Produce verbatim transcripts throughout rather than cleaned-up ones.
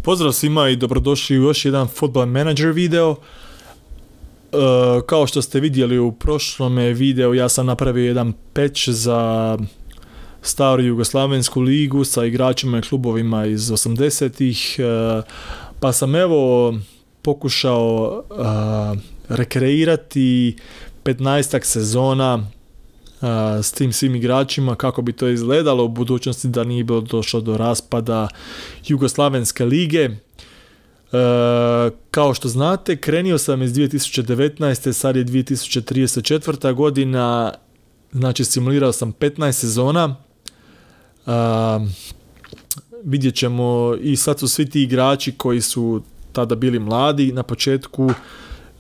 Pozdrav svima i dobrodošli u još jedan Football Manager video. E, kao što ste vidjeli u prošlom videu, ja sam napravio jedan patch za staru Jugoslavensku ligu sa igračima i klubovima iz osamdesetih, e, pa sam evo pokušao e, rekreirati petnaestak sezona a, s tim svim igračima, kako bi to izgledalo u budućnosti da nije bilo došlo do raspada Jugoslavenske lige. E, kao što znate, krenio sam iz dvije tisuće devetnaeste. sad je dvije tisuće trideset četvrta. godina, znači simulirao sam petnaest sezona. A, vidjet ćemo, i sad su svi ti igrači koji su tada bili mladi na početku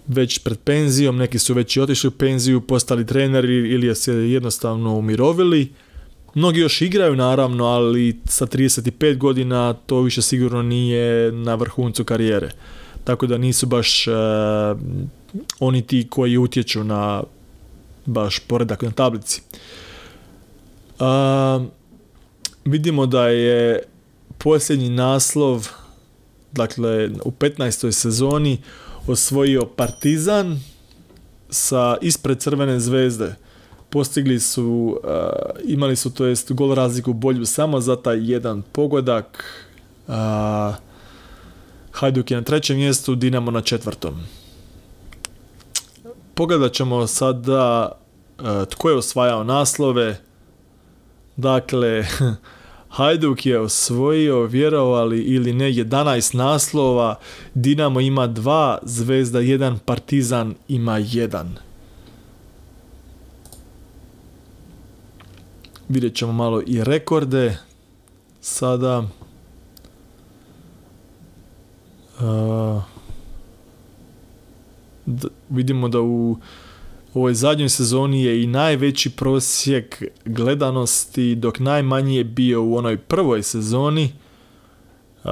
već pred penzijom, neki su već i otišli u penziju, postali treneri ili se jednostavno umirovili. Mnogi još igraju naravno, ali sa trideset pet godina to više sigurno nije na vrhuncu karijere. Tako da nisu baš uh, oni ti koji utječu na baš poredak na tablici. Uh, vidimo da je posljednji naslov, dakle u petnaestoj sezoni, osvojio Partizan sa ispred Crvene zvezde. Postigli su, uh, imali su to jest gol razliku bolju samo za taj jedan pogodak. Uh, Hajduk je na trećem mjestu, Dinamo na četvrtom. Pogledat ćemo sada uh, tko je osvajao naslove. Dakle, Hajduk je osvojio, vjerovali ili ne, jedanaest naslova, Dinamo ima dva, Zvezda jedan, Partizan ima jedan. Vidjet ćemo malo i rekorde sada. Uh, d- vidimo da u ovoj zadnjoj sezoni je i najveći prosjek gledanosti, dok najmanji je bio u onoj prvoj sezoni. Uh,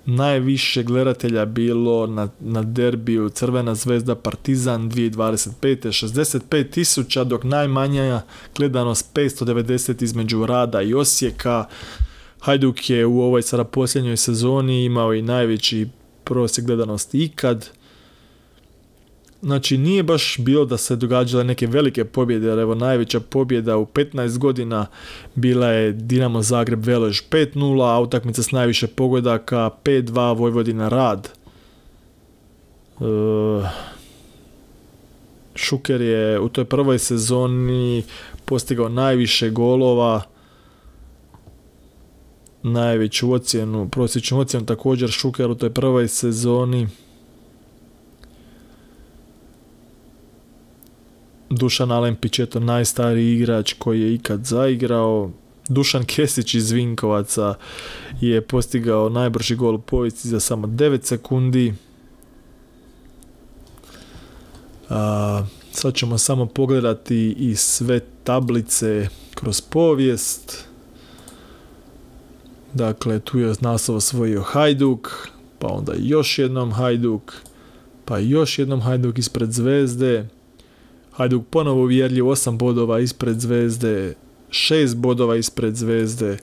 najviše gledatelja bilo na, na derbiju Crvena zvezda Partizan dvije tisuće dvadeset pete. šezdeset pet tisuća, dok najmanja gledanost petsto devedeset između Rada i Osijeka. Hajduk je u ovoj sada posljednjoj sezoni imao i najveći prosjek gledanosti ikad. Znači nije baš bilo da se događale neke velike pobjede, jer evo najveća pobjeda u petnaest godina bila je Dinamo Zagreb Velež pet nula, a utakmica s najviše pogodaka pet dva Vojvodina Rad. E, Šuker je u toj prvoj sezoni postigao najviše golova, najveću ocjenu, prosječnu ocjenu također Šuker u toj prvoj sezoni. Dušan Alempić je to najstariji igrač koji je ikad zaigrao. Dušan Kesić iz Vinkovaca je postigao najbrži gol u povijesti za samo devet sekundi. A, sad ćemo samo pogledati i sve tablice kroz povijest. Dakle, tu je naslov osvojio Hajduk, pa onda još jednom Hajduk, pa još jednom Hajduk ispred Zvezde. Hajduk ponovo uvjerljiv, osam bodova ispred Zvezde, šest bodova ispred Zvezde.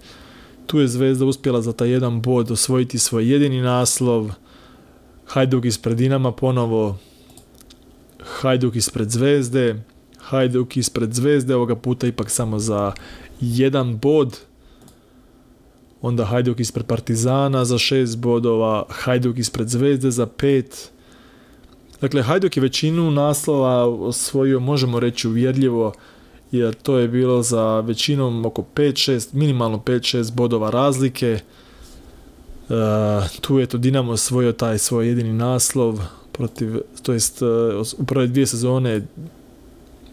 Tu je Zvezda uspjela za taj jedan bod osvojiti svoj jedini naslov. Hajduk ispred Dinama ponovo, Hajduk ispred Zvezde, Hajduk ispred Zvezde, ovoga puta ipak samo za jedan bod. Onda Hajduk ispred Partizana za šest bodova, Hajduk ispred Zvezde za pet. Dakle, Hajduk je većinu naslova osvojio, možemo reći uvjerljivo, jer to je bilo za većinom oko pet šest, minimalno pet šest bodova razlike. E, tu je to Dinamo osvojio taj svoj jedini naslov, protiv, to jest u prve dvije sezone,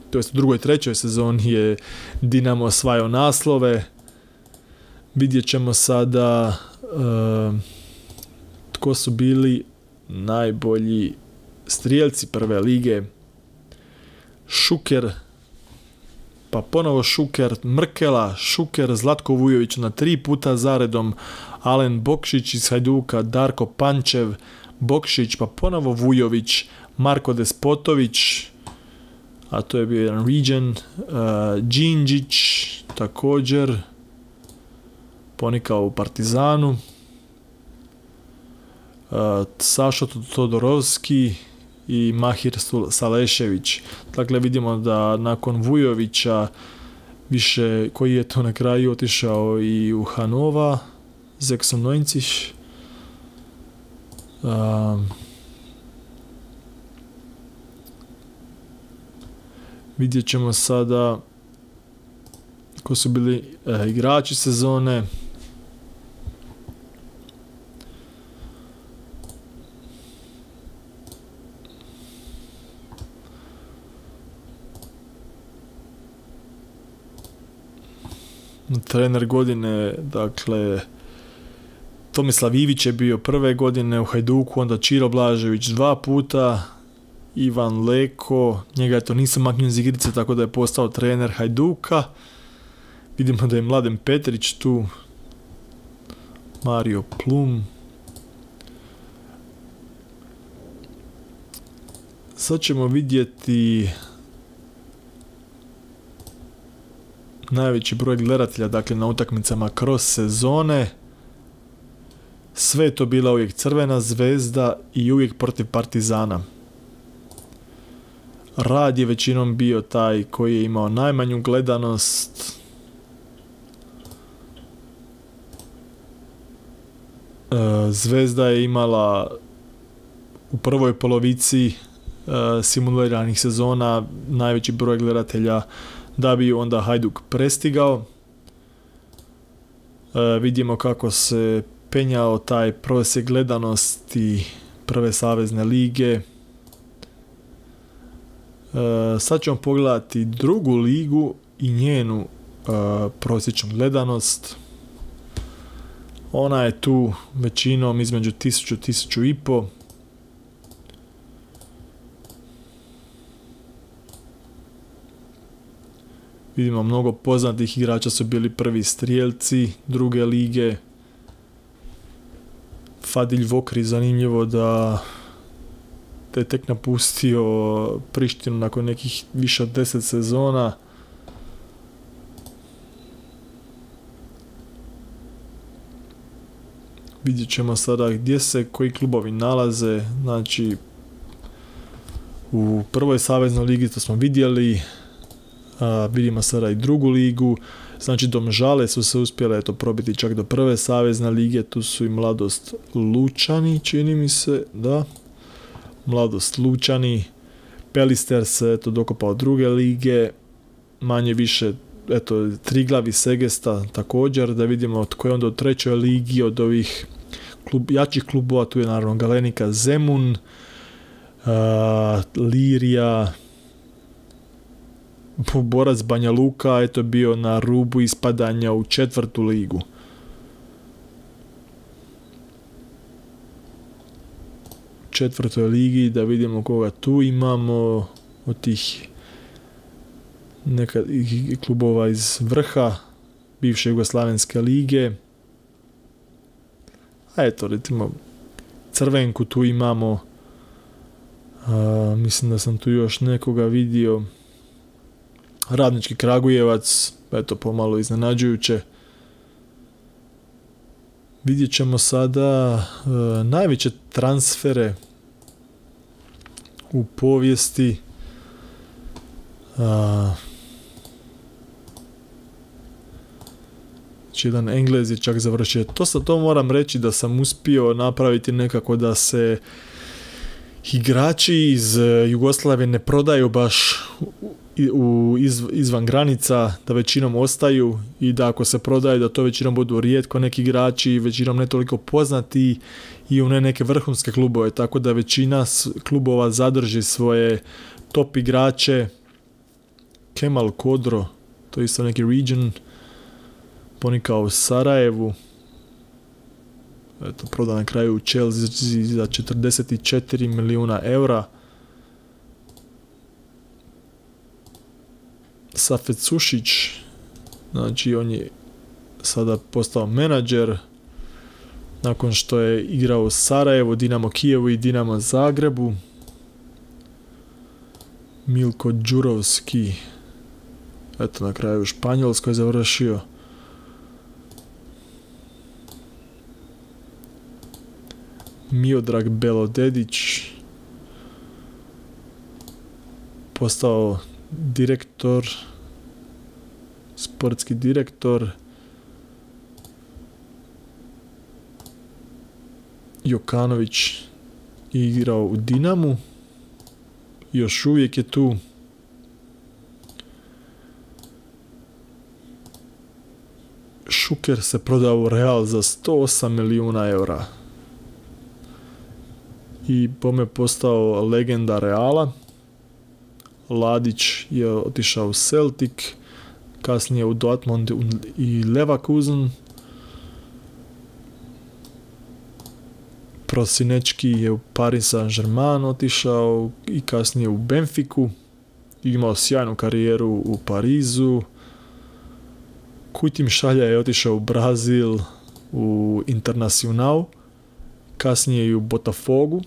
to jest u drugoj i trećoj sezoni je Dinamo osvajao naslove. Vidjet ćemo sada e, tko su bili najbolji strijelci prve lige. Šuker, pa ponovo Šuker, Mrkela, Šuker, Zlatko Vujović na tri puta zaredom, Alen Bokšić iz Hajduka, Darko Pančev, Bokšić, pa ponovo Vujović, Marko Despotović, a to je bio jedan region, uh, Đinđić također, ponikao u Partizanu. Sašo Todorovski i Mahir Salešević. Dakle, vidimo da nakon Vujovića više, koji je to na kraju otišao i u Hanova, sechsundneunzig. Um, vidjet ćemo sada ko su bili eh, igrači sezone. Trener godine, dakle, Tomislav Ivić je bio prve godine u Hajduku, onda Čiro Blažević dva puta, Ivan Leko, njega je to nisam maknio iz igrice, tako da je postao trener Hajduka. Vidimo da je Mladen Petrić tu, Mario Plum. Sad ćemo vidjeti najveći broj gledatelja, dakle, na utakmicama kroz sezone. Sve je to bila uvijek Crvena Zvezda i uvijek protiv Partizana. Rad je većinom bio taj koji je imao najmanju gledanost. Zvezda je imala u prvoj polovici simuliranih sezona najveći broj gledatelja, da bi onda Hajduk prestigao. E, vidimo kako se penjao taj prosjek gledanosti prve savezne lige. E, sad ćemo pogledati drugu ligu i njenu e, prosječnu gledanost. Ona je tu većinom između tisuću i tisuću i po. Vidimo, mnogo poznatih igrača su bili prvi strijelci druge lige. Fadilj Vokri, zanimljivo da je tek napustio Prištinu nakon nekih više od deset sezona. Vidjet ćemo sada gdje se koji klubovi nalaze. Znači, u prvoj saveznoj ligi to smo vidjeli. A, vidimo sada i drugu ligu. Znači, Domžale su se uspjele eto, probiti čak do prve savezne lige. Tu su i Mladost Lučani, čini mi se, da. Mladost Lučani. Pelister se eto, dokopao druge lige. Manje više, eto, Triglav i Segesta također. Da vidimo tko je onda u trećoj ligi od ovih klub, jačih klubova. Tu je naravno Galenika Zemun, a, Lirija, Borac Banja Luka, eto bio na rubu ispadanja u četvrtu ligu. U četvrtoj ligi, da vidimo koga tu imamo od tih neka klubova iz vrha bivše Jugoslavenske lige. A eto, recimo, Crvenku tu imamo. A, mislim da sam tu još nekoga vidio. Radnički Kragujevac, eto, pomalo iznenađujuće. Vidjet ćemo sada e, najveće transfere u povijesti. A, znači, jedan Englez je čak završio. To sa to moram reći da sam uspio napraviti nekako da se igrači iz Jugoslavije ne prodaju baš u, u iz, izvan granica, da većinom ostaju i da ako se prodaju da to većinom budu rijetko neki igrači, većinom ne toliko poznati i u ne neke vrhunske klubove, tako da većina klubova zadrži svoje top igrače. Kemal Kodro, to je isto neki region, ponikao u Sarajevu, eto, proda na kraju u Chelsea za četrdeset četiri milijuna eura. Safet Sušić, znači on je sada postao menadžer nakon što je igrao u Sarajevu, Dinamo Kijevu i Dinamo Zagrebu. Milko Đurovski, eto, na kraju u Španjolskoj završio. Miodrag Belodedić postao direktor, sportski direktor. Jokanović igrao u Dinamu, još uvijek je tu. Šuker se prodao u Real za sto osam milijuna eura i pome postao legenda Reala. Ladić je otišao u Celtic, kasnije u Dortmund i Leverkusen. Prosinečki je u Paris Saint-Germain otišao i kasnije u Benfiku. Imao sjajnu karijeru u Parizu. Kujtim Šalja je otišao u Brazil, u Internacional, kasnije i u Botafogu.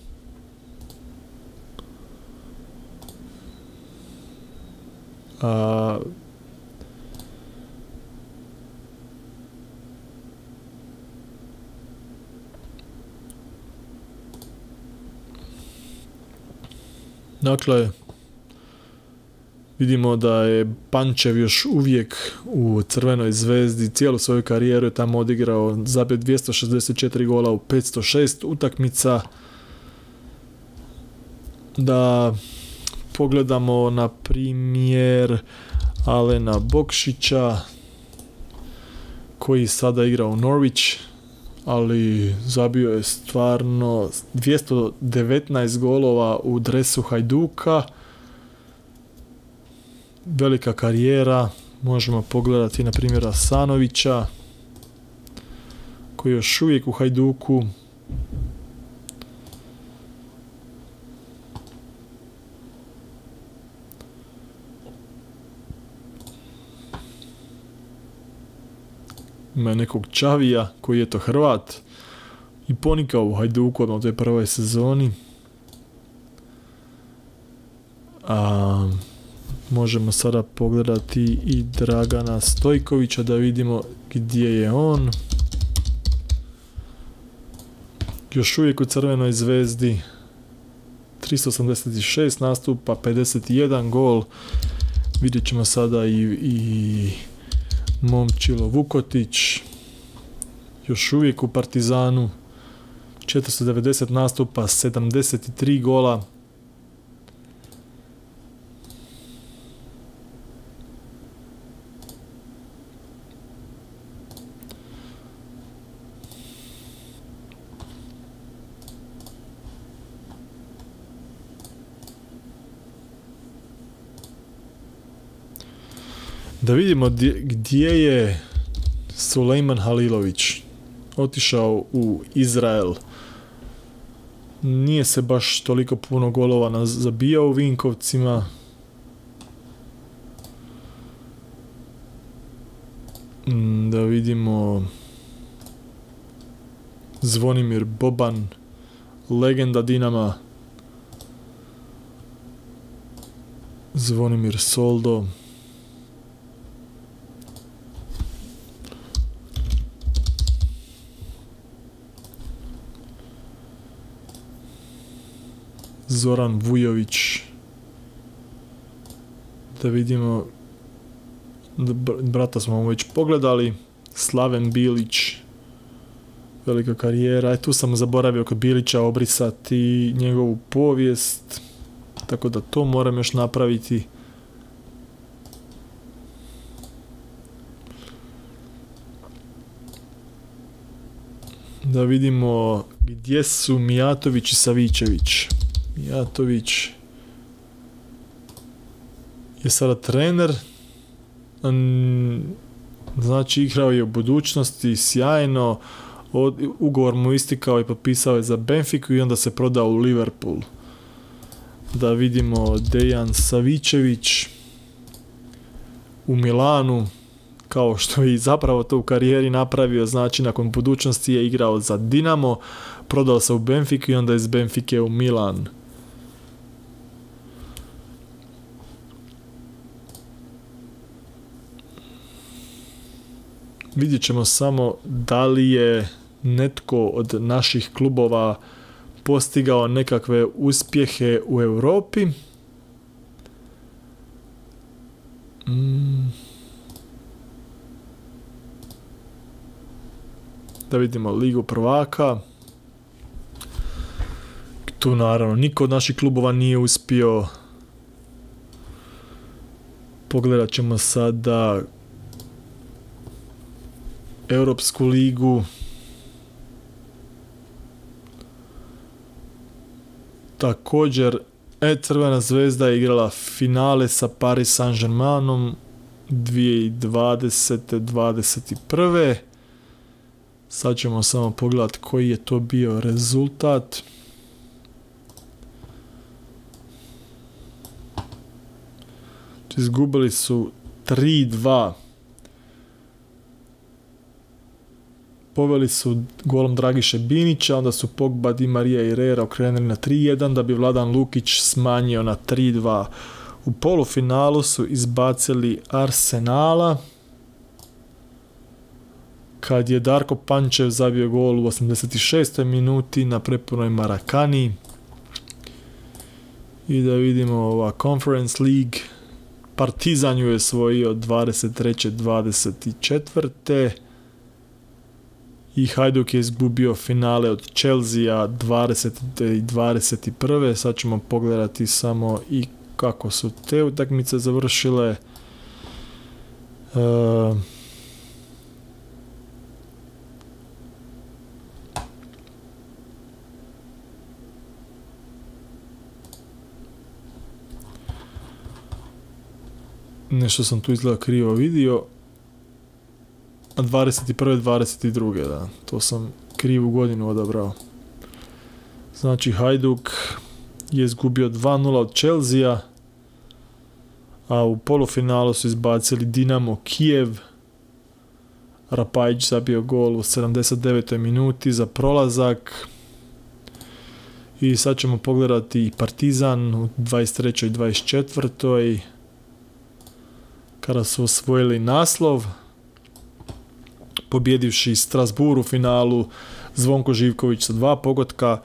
A, dakle, vidimo da je Pančev još uvijek u Crvenoj zvezdi, cijelu svoju karijeru je tamo odigrao, zabio dvjesto šezdeset četiri gola u petsto šest utakmica. Da pogledamo na primjer Alena Bokšića koji sada igra u Norwich, ali zabio je stvarno dvjesto devetnaest golova u dresu Hajduka. Velika karijera. Možemo pogledati na primjer Asanovića koji je još uvijek u Hajduku. Ima nekog Čavija koji je to Hrvat i ponikao u Hajduku u toj prvoj sezoni. A možemo sada pogledati i Dragana Stojkovića da vidimo gdje je on. Još uvijek u Crvenoj zvezdi, tristo osamdeset šest nastupa, pedeset jedan gol. Vidjet ćemo sada i, i Momčilo Vukotić, još uvijek u Partizanu, četiristo devedeset nastupa, sedamdeset tri gola. Da vidimo gdje je Sulejman Halilović. Otišao u Izrael. Nije se baš toliko puno golova zabijao u Vinkovcima. Da vidimo Zvonimir Boban, legenda Dinama. Zvonimir Soldo. Zoran Vujović. Da vidimo, brata smo već pogledali. Slaven Bilić, velika karijera. E, tu sam zaboravio kod Bilića obrisati njegovu povijest, tako da to moram još napraviti. Da vidimo gdje su Mijatović i Savičević. Mijatović je sada trener, znači igrao je u budućnosti sjajno, ugovor mu istikao i potpisao je za Benfiku i onda se prodao u Liverpool. Da vidimo Dejan Savičević u Milanu, kao što je i zapravo to u karijeri napravio, znači nakon budućnosti je igrao za Dinamo, prodao se u Benfiku i onda iz Benfike u Milan. Vidjet ćemo samo da li je netko od naših klubova postigao nekakve uspjehe u Europi. Mm. Da vidimo Ligu prvaka. Tu naravno niko od naših klubova nije uspio. Pogledat ćemo sada Europsku ligu. Također, e, Crvena zvezda je igrala finale sa Paris Saint-Germainom dvije tisuće dvadesete dvadeset prve. Sad ćemo samo pogledati koji je to bio rezultat. Izgubili su tri dva. Poveli su golom Dragiše Binića, onda su Pogba, Di Marija i Herrera okrenuli na tri jedan da bi Vladan Lukić smanjio na tri dva. U polufinalu su izbacili Arsenala kad je Darko Pančev zabio gol u osamdeset šestoj minuti na prepunoj Marakani. I da vidimo ova Conference League. Partizan ju je osvojio dvadeset treće dvadeset četvrte i Hajduk je izgubio finale od Chelsea dvadesete i dvadeset prve. Sad ćemo pogledati samo i kako su te utakmice završile. Uh, Nešto sam tu izgleda krivo vidio. dvadeset prve dvadeset druge da. To sam krivu godinu odabrao. Znači Hajduk je izgubio dva nula od Chelsea, a u polufinalu su izbacili Dinamo Kijev. Rapajić zabio gol u sedamdeset devetoj minuti za prolazak. I sad ćemo pogledati Partizan u dvadeset trećoj i dvadeset četvrtoj kada su osvojili naslov, pobjedivši Strasbourg u finalu Zvonko Živković sa dva pogotka,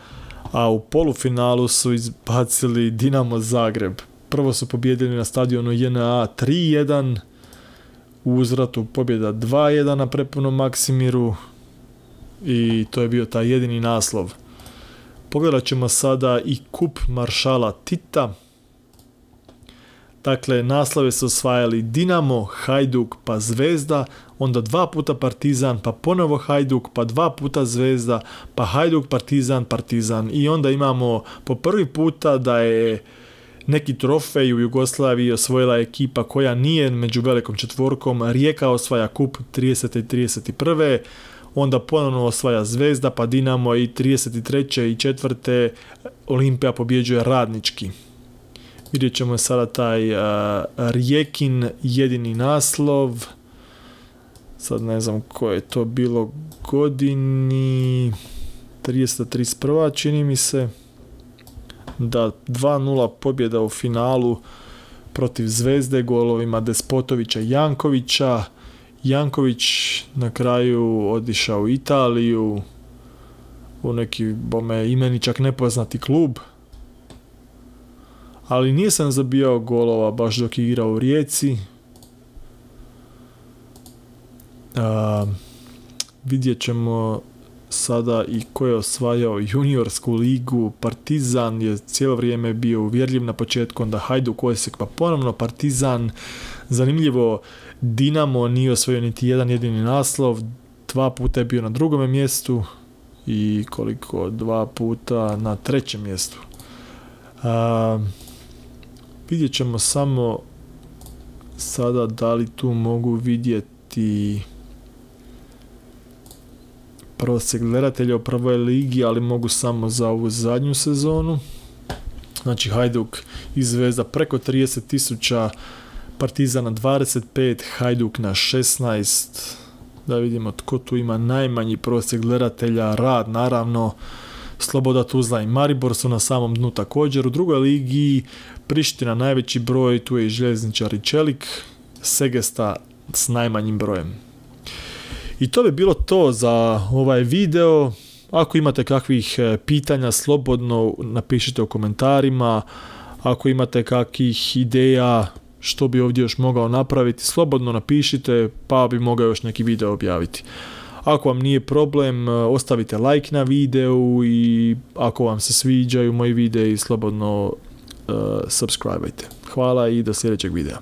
a u polufinalu su izbacili Dinamo Zagreb. Prvo su pobjedili na stadionu J N A tri jedan, u uzvratu pobjeda dva jedan na prepunom Maksimiru i to je bio taj jedini naslov. Pogledat ćemo sada i kup maršala Tita. Dakle, naslove su osvajali Dinamo, Hajduk pa Zvezda, onda dva puta Partizan, pa ponovo Hajduk, pa dva puta Zvezda, pa Hajduk, Partizan, Partizan. I onda imamo po prvi puta da je neki trofej u Jugoslaviji osvojila ekipa koja nije među velikom četvorkom. Rijeka osvaja kup tridesete i trideset prve Onda ponovno osvaja Zvezda, pa Dinamo i trideset treće i četvrte Olimpija pobjeđuje Radnički. Vidjet ćemo sada taj uh, Rijekin jedini naslov. Sad ne znam koje je to bilo godini. trideseta trideset prva čini mi se. Da, dva nula pobjeda u finalu protiv Zvezde golovima Despotovića i Jankovića. Janković na kraju otišao u Italiju u neki bome imeni čak nepoznati klub. Ali nisam zabijao golova baš dok je igrao u Rijeci. A, vidjet ćemo sada i ko je osvajao juniorsku ligu. Partizan je cijelo vrijeme bio uvjerljiv na početku, onda Hajduk Osijek, pa ponovno Partizan. Zanimljivo, Dinamo nije osvojio niti jedan jedini naslov, dva puta je bio na drugome mjestu i koliko, dva puta na trećem mjestu. A, vidjet ćemo samo sada da li tu mogu vidjeti prosjek gledatelja u prvoj ligi, ali mogu samo za ovu zadnju sezonu. Znači Hajduk i Zvezda preko trideset tisuća, Partizana dvadeset pet, Hajduk na šesnaest. Da vidimo tko tu ima najmanji prosjek gledatelja. Rad naravno, Sloboda Tuzla i Maribor su na samom dnu također. U drugoj ligi Priština najveći broj, tu je i Željezničar i Čelik, Segesta s najmanjim brojem. I to bi bilo to za ovaj video. ako imate kakvih pitanja, slobodno napišite u komentarima. Ako imate kakvih ideja što bi ovdje još mogao napraviti, slobodno napišite, pa bi mogao još neki video objaviti. Ako vam nije problem, ostavite like na videu i ako vam se sviđaju moji videi, slobodno uh, subscribeajte. Hvala i do sljedećeg videa.